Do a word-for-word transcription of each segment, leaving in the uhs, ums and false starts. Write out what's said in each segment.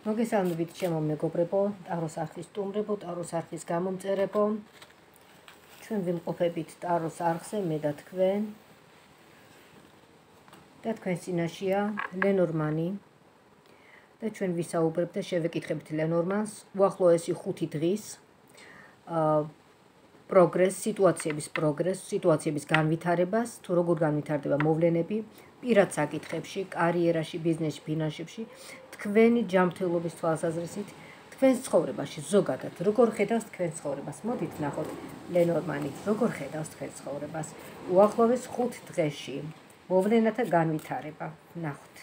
მოგესალმებით ჩემო მეგობრებო, ტაროს არხის სტუმრებო, ტაროს არხის გამომწერებო. ჩვენ ვიმყოფებით ტაროს არხზე, მე და თქვენ. და თქვენ წინაშეა ლენორმანი. და ჩვენ ვისაუბრებთ და შევეკითხებთ ლენორმანს უახლოესი ხუთი დღის პროგრესს, სიტუაციების პროგრესს, სიტუაციების განვითარებას, თუ როგორ განვითარდება მოვლენები პირად საკითხებში, კარიერაში, ბიზნესში, ფინანსებში, თქვენი ჯანმრთელობის თვალსაზრისით, თქვენს ცხოვრებაში ზოგადად, როგორ ხედავს თქვენს ცხოვრებას. მოდით ნახოთ ლენორმანი, როგორ ხედავს თქვენს ცხოვრებას უახლოეს ხუთ დღეში. მოვლენათა განვითარება. ნახოთ.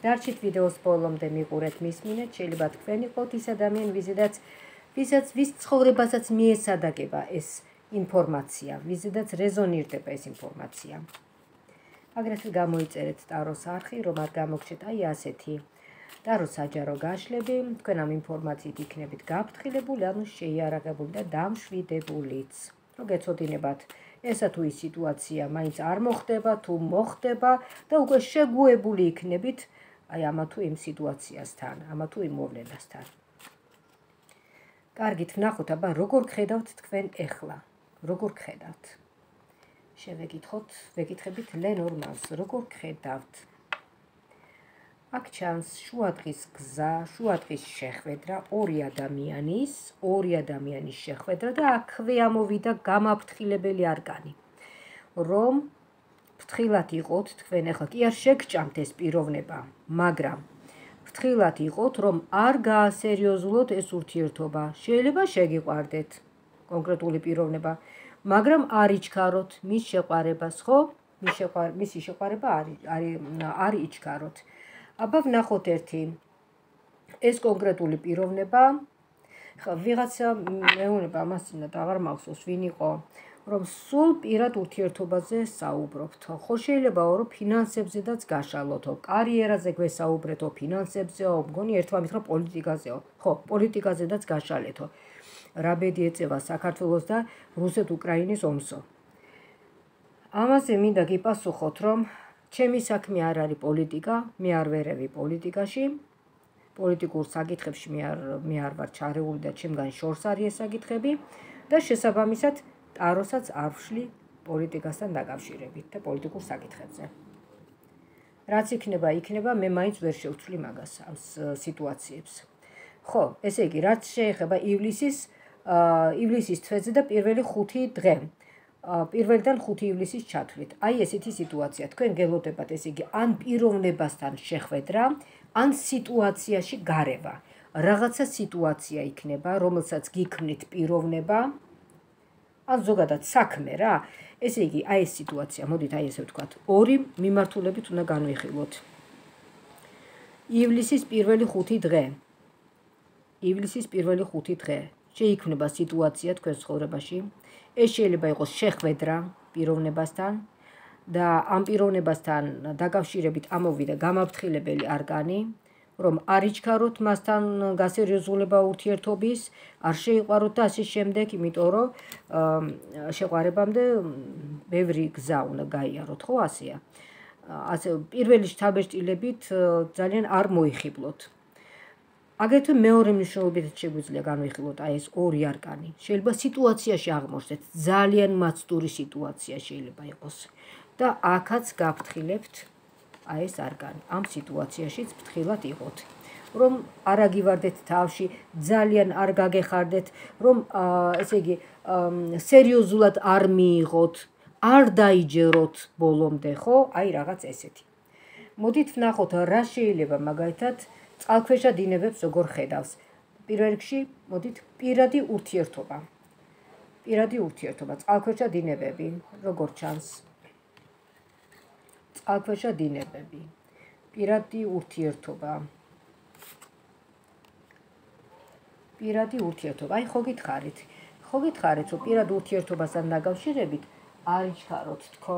დარჩით ვიდეოს ბოლომდე მიყურეთ, მისმინეთ, შეიძლება თქვენ იყოთ ის ადამიანი, ვიზედაც ვისაც ვის ცხოვრებასაც მიესადაგება ეს ინფორმაცია, ვიზედაც რეზონირდება ეს ინფორმაცია. აგრეთვე გამოიწერეთ ტაროს არხი, რომ არ გამოგჩეთ აი ასეთი ტაროს საჯარო გაშლები, თქვენ ამ ინფორმაციით იქნებით გაფრთხილებული, ანუ შეიარაღებული და დამშვიდებულიც. რომ გეცოდინებათ, ესა თუ ის სიტუაცია მაინც არ მოხდება, თუ მოხდება და უკვე შეგუებული იქნებით აი ამა თუ იმ სიტუაციასთან, ამა თუ იმ მოვლენასთან. კარგით, ვნახოთ, აბა როგორ გხედავთ თქვენ ეხლა? როგორ გხედავთ? შევეკითხოთ, ვეკითხებით ლენორმანს, როგორ გხედავთ? აქ ჩანს შუადღის გზა, შუადღის შეხვედრა ორი ადამიანის, ორი ადამიანის შეხვედრა და აქვე ამოვიდა გამაფრთხილებელი არგანი. რომ ფრთხილად იყოთ თქვენ ახლა კი არ შეგჭამთ ეს პიროვნება, მაგრამ ფრთხილად იყოთ, რომ არ გაასერიოზულოთ ეს ურთიერთობა. შეიძლება შეგიყვარდეთ კონკრეტული პიროვნება, მაგრამ არ იჩქაროთ მის შეყვარებას, ხო? მის შეყვარ მისი შეყვარება არ არ იჩქაროთ. აბა ვნახოთ ერთი ეს კონკრეტული პიროვნება, ხა ვიღაცა მეუბნება ამას წინათ აღარ მახსოვს ვინ იყო, რომ სულ პირად ურთიერთობაზე საუბრობთ. ხო შეიძლებაო, რომ ფინანსებზედაც გაშალოთო, კარიერაზე გვესაუბრეთო, ფინანსებზეო, მგონი ერთმანეთს რომ პოლიტიკაზეო. ხო, პოლიტიკაზედაც გაშალეთო. რა ბედი ეწევა საქართველოს და რუსეთ-უკრაინის ომსო. ამაზე მინდა გიპასუხოთ, რომ ჩემი საქმე არ არის პოლიტიკა, მე არ ვერევი პოლიტიკაში, პოლიტიკურ საკითხებში მე არ მე არ ვარ ჩარეული და ჩემგან შორს არის ეს საკითხები და შესაბამისად ტაროსაც არ ვშლი პოლიტიკასთან დაკავშირებით და პოლიტიკურ საკითხებზე. რაც იქნება, იქნება, მე მაინც ვერ შევცვლი მაგას ამ სიტუაციებს. ხო, ესე იგი, რაც შეეხება ივლისის ივლისის თვეზე და პირველი ხუთი დღე. პირველიდან ხუთი ივლისის ჩათვლით. აი ესეთი სიტუაცია. თქვენ გელოდებათ, ესე იგი, ან პიროვნებასთან შეხვედრა, ან სიტუაციაში გარევა. რაღაცა სიტუაცია იქნება, რომელსაც გიქმნით პიროვნება, ან ზოგადად საქმე რა. ესე იგი, აი ეს სიტუაცია, მოდით აი ესე ვთქვათ, ორი მიმართულებით უნდა განვიხილოთ. ივლისის პირველი ხუთი დღე. ივლისის პირველი ხუთი დღე. შეიქმნება სიტუაცია თქვენ ცხოვრებაში. ეს შეიძლება იყოს შეხვედრა პიროვნებასთან და ამ პიროვნებასთან დაკავშირებით ამოვიდა გამაფრთხილებელი არგანი, რომ არ იჩქაროთ მასთან გასერიოზულება ურთიერთობის, არ შეიყვაროთ და ასე შემდეგ, იმიტომ რომ შეყვარებამდე ბევრი გზა უნდა გაიაროთ, ხო ასეა. ასე პირველი შთაბეჭდილებით ძალიან არ მოიხიბლოთ. აგრეთვე მეორე მნიშვნელობითაც შეგვიძლია განვიხილოთ აი ეს ორი არკანი. შეიძლება სიტუაციაში აღმოჩნდეთ, ძალიან მაცდური სიტუაცია შეიძლება იყოს და აქაც გაფრთხილებთ აი ეს არკანი. ამ სიტუაციაშიც ფრთხილად იყოთ. რომ არ აგივარდეთ თავში, ძალიან არ გაგეხარდეთ, რომ ესე იგი სერიოზულად არ მიიღოთ, არ დაიჯეროთ ბოლომდე, ხო? აი რაღაც ესეთი. მოდით ვნახოთ რა შეიძლება მაგალითად წყალქვეშა დინებებს როგორ ხედავს. პირველ რიგში, მოდით პირადი ურთიერთობა. პირადი ურთიერთობა, წყალქვეშა დინებები, როგორ ჩანს. წყალქვეშა დინებები, პირადი ურთიერთობა. პირადი ურთიერთობა, აი ხო გითხარით. ხო გითხარით, რომ პირად ურთიერთობასთან დაკავშირებით არ იჩქაროთ თქო.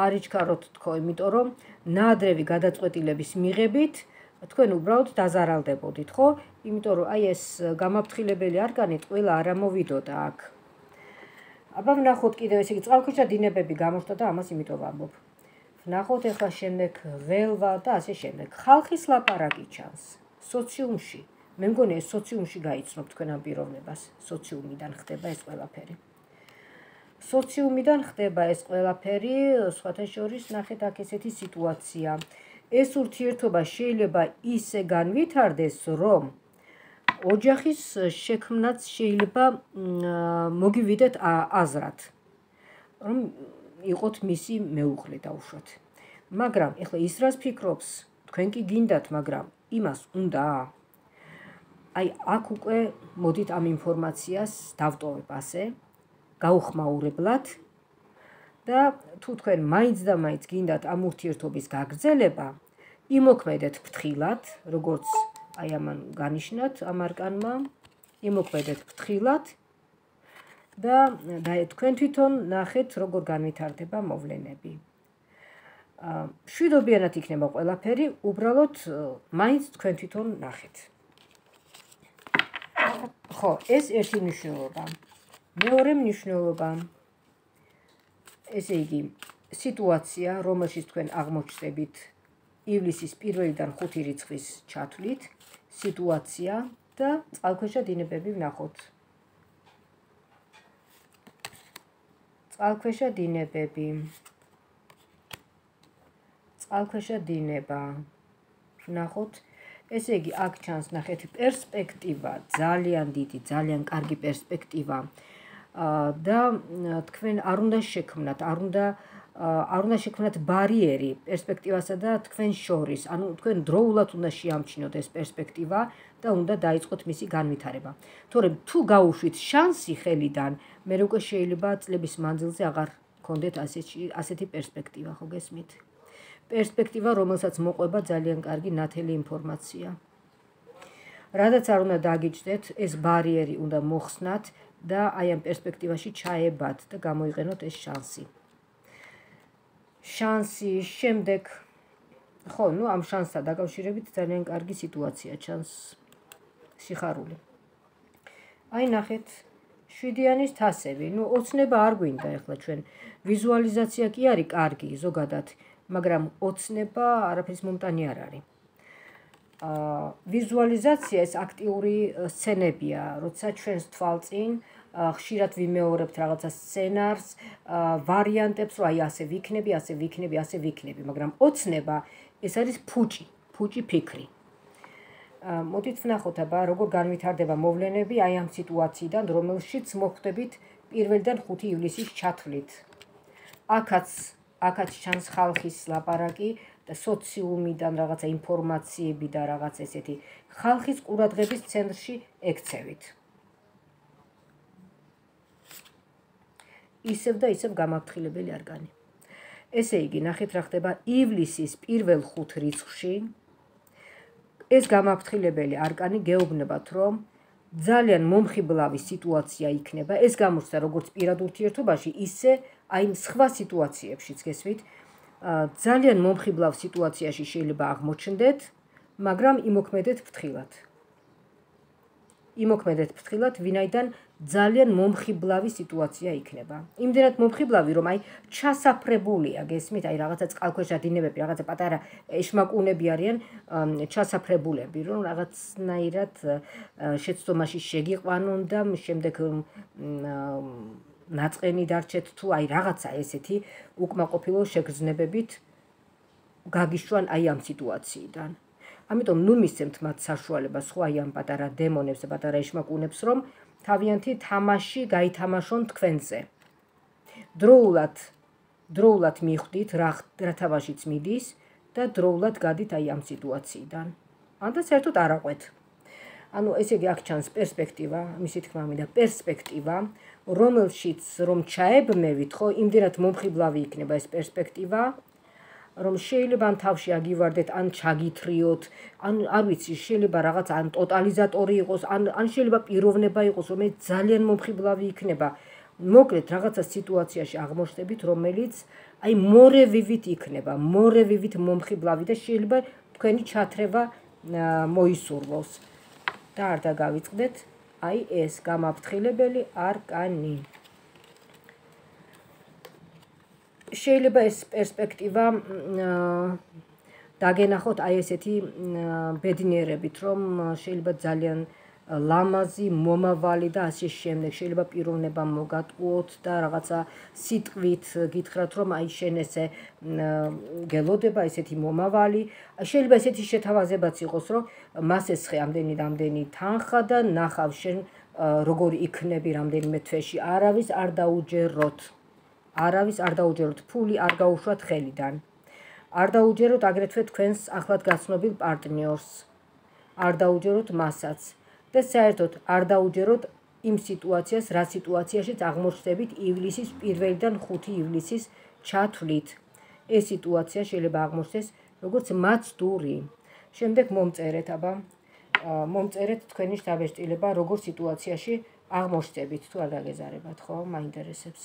არ იჩქაროთ თქო, იმიტომ რომ ნაადრევი გადაწყვეტილების მიღებით თქვენ უბრალოდ დაზარალდებოდით, ხო? იმიტომ რომ აი ეს გამაფრთხილებელი არგანი ყველა არ ამოვიდოდა აქ. აბა ვნახოთ კიდევ, ესე იგი, წყალქვეშა დინებები გამოჩნდა და ამას იმიტომ ვამბობ. ვნახოთ ახლა შემდეგ ველვა და ასე შემდეგ. ხალხის ლაპარაკი ჩანს სოციუმში. მე მგონი ეს სოციუმში გაიცნობ თქვენ ამ პიროვნებას. სოციუმიდან ხდება ეს ყველაფერი. სოციუმიდან ხდება ეს ყველაფერი, სხვათა შორის ნახეთ აქ ესეთი სიტუაცია. ეს ურთიერთობა შეიძლება ისე განვითარდეს, რომ ოჯახის შექმნაც შეიძლება მოგივიდეთ აზრად, რომ იყოთ მისი მეუღლე დაუშვათ. მაგრამ ეხლა ის რას ფიქრობს, თქვენ კი გინდათ, მაგრამ იმას უნდა. აი აქ უკვე მოდით ამ ინფორმაციას დავტოვებ ასე, გაუხმაურებლად და თუ თქვენ მაინც და მაინც გინდათ ამ ურთიერთობის გაგრძელება, იმოქმედეთ ფრთხილად, როგორც აი ამან განიშნათ ამ არკანმა, იმოქმედეთ ფრთხილად და თქვენ თვითონ ნახეთ, როგორ განვითარდება მოვლენები. შვიდობიანად იქნება ყველაფერი, უბრალოდ მაინც თქვენ თვითონ ნახეთ. ხო, ეს ერთი მნიშვნელობა. მეორე მნიშვნელობა, ესე იგი, სიტუაცია, რომელშიც თქვენ აღმოჩნდებით ივლისის პირველიდან ხუთი რიცხვის ჩათვლით, სიტუაცია და წყალქვეშა დინებები ვნახოთ. წყალქვეშა დინებები. წყალქვეშა დინება. ვნახოთ. ესე იგი, აქ ჩანს ნახეთ პერსპექტივა, ძალიან დიდი, ძალიან კარგი პერსპექტივა და თქვენ არ უნდა შექმნათ, არ უნდა არ უნდა შექმნათ ბარიერი პერსპექტივასა და თქვენ შორის. ანუ თქვენ დროულად უნდა შეამჩნიოთ ეს პერსპექტივა და უნდა დაიწყოთ მისი განვითარება. თორემ თუ გაუშვით შანსი ხელიდან, მე უკვე შეიძლება წლების მანძილზე აღარ გქონდეთ ასეთი პერსპექტივა, ხო გესმით? პერსპექტივა, რომელსაც მოყვება ძალიან კარგი ნათელი ინფორმაცია. რადგან არ უნდა დაგიჯდეთ, ეს ბარიერი უნდა მოხსნათ და აი ამ პერსპექტივაში ჩაებათ და გამოიყენოთ ეს შანსი. შანსი შემდეგ, ხო, ნუ ამ შანსთან დაკავშირებით ძალიან კარგი სიტუაცია ჩანს, სიხარული. აი ნახეთ, შვიდიანის თასები, ნუ ოცნება არ გვინდა ახლა ჩვენ. ვიზუალიზაცია კი არის კარგი ზოგადად, მაგრამ ოცნება არაფრის მომტანი არ არის. ვიზუალიზაცია ეს აქტიური სცენებია, როცა ჩვენს თვალწინ ხშირად ვიმეორებთ რაღაცა სცენარს, ვარიანტებს, რომ აი ასე ვიქნები, ასე ვიქნები, ასე ვიქნები, მაგრამ ოცნება ეს არის ფუჭი, ფუჭი ფიქრი. მოდით ვნახოთ აბა, როგორ განვითარდება მოვლენები აი ამ სიტუაციიდან, რომელშიც მოხვდებით პირველიდან ხუთი ივლისის ჩათვლით. აქაც აქაც ჩანს ხალხის ლაპარაკი და სოციუმიდან რაღაცა ინფორმაციები და რაღაც ესეთი ხალხის ყურადღების ცენტრში ექცევით. ისევ და ისევ გამაფრთხილებელი არკანი. ესე იგი, ნახეთ რა ხდება ივლისის პირველ ხუთ რიცხვში. ეს გამაფრთხილებელი არკანი გეუბნებათ, რომ ძალიან მომხიბლავი სიტუაცია იქნება. ეს გამოჩნდა როგორც პირად ურთიერთობაში, ისე აი სხვა სიტუაციებშიც გესმით. ძალიან მომხიბლავ სიტუაციაში შეიძლება აღმოჩნდეთ, მაგრამ იმოქმედეთ ფრთხილად. იმოქმედეთ ფრთხილად, ვინაიდან ძალიან მომხიბლავი სიტუაცია იქნება. იმდენად მომხიბლავი, რომ აი ჩასაფრებულია, გესმით, აი რაღაცა წყალქვეშა დინებები, რაღაცა პატარა ეშმაკუნები არიან ჩასაფრებულები, რომ რაღაცნაირად შეცდომაში შეგიყვანონ და შემდეგ ნაწყენი დარჩეთ თუ აი რაღაცა ესეთი უკმაყოფილო შეგრძნებებით გაგიშვან აი ამ სიტუაციიდან. ამიტომ ნუ მისცემთ მათ საშუალებას სხვა აი ამ პატარა დემონებს და პატარა ეშმაკუნებს, რომ თავიანთი თამაში გაითამაშონ თქვენზე. დროულად, დროულად მიხვდით რა თამაშიც მიდის და დროულად გადით აი ამ სიტუაციიდან. ანდა საერთოდ არ აყვეთ. ანუ ესე იგი აქ ჩანს პერსპექტივა, მისი თქმა მინდა პერსპექტივა, რომელშიც რომ ჩაებმევით, ხო, იმდენად მომხიბლავი იქნება ეს პერსპექტივა, რომ შეიძლება ან თავში აგივარდეთ, ან ჩაგითრიოთ, ან არ ვიცი, შეიძლება რაღაც ან ტოტალიზატორი იყოს, ან ან შეიძლება პიროვნება იყოს, რომელიც ძალიან მომხიბლავი იქნება. მოკლედ რაღაცა სიტუაციაში აღმოჩნდებით, რომელიც აი მორევივით იქნება, მორევივით მომხიბლავი და შეიძლება თქვენი ჩათრევა მოისურვოს. და არ დაგავიწყდეთ, აი ეს გამაფრთხილებელი არკანი. შეიძლება ეს პერსპექტივა დაგენახოთ აი ესეთი ბედნიერებით, რომ შეიძლება ძალიან ლამაზი მომავალი და ასე შემდეგ, შეიძლება პიროვნება მოგატყუოთ და რაღაცა სიტყვით გითხრათ, რომ აი შენ ესე გელოდება ესეთი მომავალი, შეიძლება ესეთი შეთავაზებაც იყოს, რომ მას ესხე ამდენი რამდენი თანხა და ნახავ შენ როგორ იქნები რამდენიმე თვეში, არავის არ დაუჯეროთ. არავის არ დაუჯეროთ, ფული არ გაუშვათ ხელიდან. არ დაუჯეროთ აგრეთვე თქვენს ახლად გაცნობილ პარტნიორს. არ დაუჯეროთ მასაც. და საერთოდ არ დაუჯეროთ იმ სიტუაციას, რა სიტუაციაშიც აღმოჩნდებით ივლისის პირველიდან ხუთი ივლისის ჩათვლით. ეს სიტუაცია შეიძლება აღმოჩნდეს როგორც მაცდური. შემდეგ მომწერეთ, აბა, მომწერეთ თქვენი შთაბეჭდილება, როგორ სიტუაციაში აღმოჩნდებით, თუ არ გაგეზარებათ, ხო, მაინტერესებს.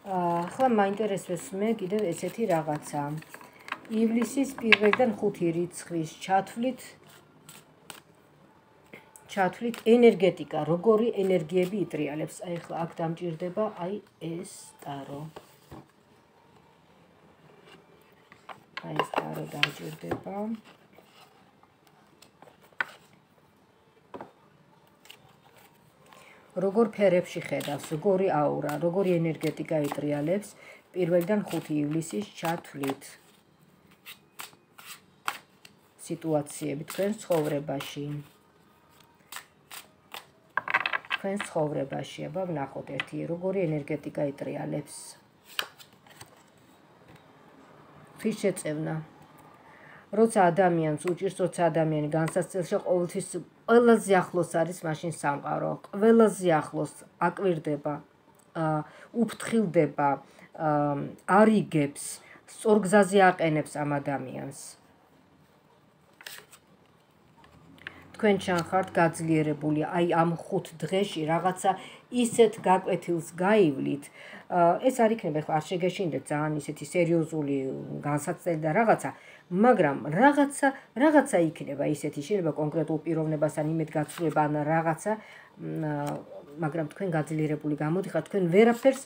ახლა მაინტერესებს მე კიდევ ესეთი რაღაცა. ივლისის პირველიდან ხუთი რიცხვის ჩათვლით ჩათვლით ენერგეტიკა, როგორი ენერგიები იტრიალებს. აი ახლა აქ დამჭირდება აი ეს ტარო. აი ეს ტარო დამჭირდება. როგორ ფერებში ხედავს, როგორი აურა, როგორი ენერგეტიკა იტრიალებს პირველიდან ხუთი ივლისის ჩათვლით. სიტუაციები თქვენ ცხოვრებაში. თქვენ ცხოვრებაში, აბა ვნახოთ ერთი, როგორი ენერგეტიკა იტრიალებს. თვითშეწევნა. როცა ადამიანს უჭირს, როცა ადამიანი განსაცდელში ყოველთვის ყველაზე ახლოს არის მაშინ სამყარო, ყველაზე ახლოს აკვირდება, უფრთხილდება, არიგებს, სწორგზაზე აყენებს ამ ადამიანს. თქვენ ჩანხართ გაძლიერებული, აი ამ ხუთ დღეში რაღაცა ისეთ გაკვეთილს გაივლით. ეს არ იქნება, ხო არ შეგეშინდეთ ძალიან ისეთი სერიოზული განსაცდელი და რაღაცა, მაგრამ რაღაცა რაღაცა იქნება ისეთი, შეიძლება კონკრეტულ პიროვნებასთან იმედგაცრუება ან რაღაცა, მაგრამ თქვენ გაძლიერებული გამოდიხართ, თქვენ ვერაფერს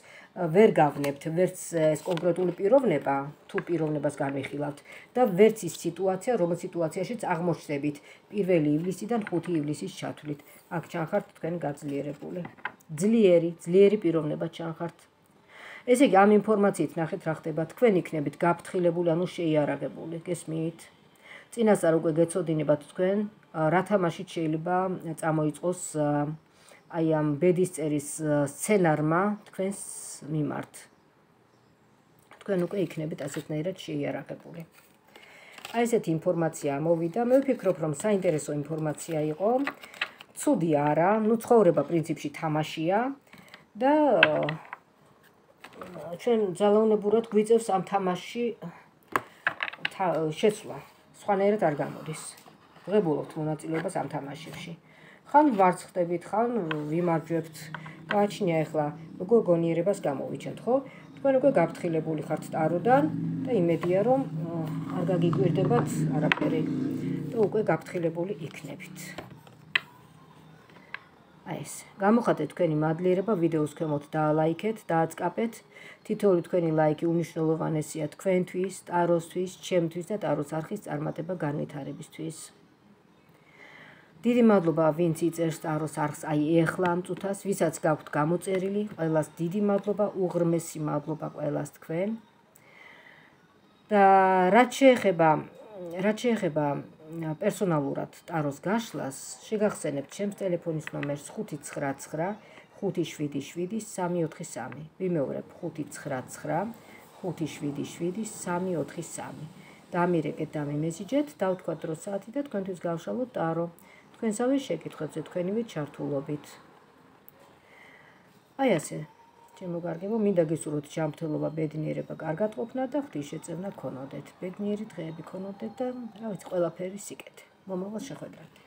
ვერ გავნებთ, ვერც ეს კონკრეტული პიროვნება, თუ პიროვნებას განვიხილავთ და ვერც ის სიტუაცია, რომელ სიტუაციაშიც აღმოჩნდებით პირველი ივლისიდან ხუთი ივლისის ჩათვლით. აქ ჩანხართ თქვენ გაძლიერებული. ძლიერი, ძლიერი პიროვნება ჩანხართ. ესე იგი, ამ ინფორმაციით ნახეთ რა ხდება, თქვენ იქნებით გაფრთხილებული, ანუ შეიარაღებული, გესმით? წინასწარ უკვე გეცოდინებათ თქვენ, რა თამაშით შეიძლება წამოიწყოს აი ამ ბედისწერის სცენარმა თქვენს მიმართ. თქვენ უკვე იქნებით ასეთნაირად შეიარაღებული. აი ესეთი ინფორმაცია მოვიდა, მე ვფიქრობ, რომ საინტერესო ინფორმაცია იყო. ცუდი არა, ნუ ცხოვრება პრინციპში თამაშია და ჩვენ ძალაუნებურად გვიწევს ამ თამაშში შეცვლა. სხვანაირად არ გამოდის. ღებულობთ მონაწილეობას ამ თამაშებში. ხან ვარცხდებით, ხან ვიმარჯვებთ. გააჩნია ახლა როგორ გონიერებას გამოვიჩენთ, ხო? თქვენ უკვე გაფრთხილებული ხართ ტაროდან და იმედია, რომ არ გაგიკვირდებათ არაფერი და უკვე გაფრთხილებული იქნებით. აი ეს. გამოხატეთ თქვენი მადლიერება, ვიდეოს ქვემოთ დაალაიქეთ, დააწყაპეთ. თითოეული თქვენი ლაიქი უნიშნულოვანესია თქვენთვის, ტაროსთვის, ჩემთვის და ტაროს არხის წარმატება განვითარებისთვის. დიდი მადლობა, ვინც იწერს ტაროს არხს აი ეხლა ამ წუთას, ვისაც გაქვთ გამოწერილი, ყველას დიდი მადლობა, უღრმესი მადლობა ყველას თქვენ. და რაც შეეხება, რაც შეეხება პერსონალურად ტაროს გაშლას, შეგახსენებთ ჩემს ტელეფონის ნომერს ხუთი ცხრა ცხრა ხუთი შვიდი შვიდი სამი ოთხი სამი. ვიმეორებ ხუთი ცხრა ცხრა ხუთი შვიდი შვიდი სამი ოთხი სამი. დამირეკეთ, დამიმესიჯეთ, დავთქვათ დრო საათი და თქვენთვის გავშალოთ ტარო. თქვენსავე შეკითხვებზე თქვენივე ჩართულობით. აი ასე, ჩემო კარგებო, მინდა გისურვოთ ჯანმრთელობა, ბედნიერება, კარგად ყოფნა და ღვთისმშეწევნა გქონოდეთ. ბედნიერი დღეები გქონოდეთ და რა ვიცი, ყველაფერი სიკეთე. მომავალ შეხვედრამდე.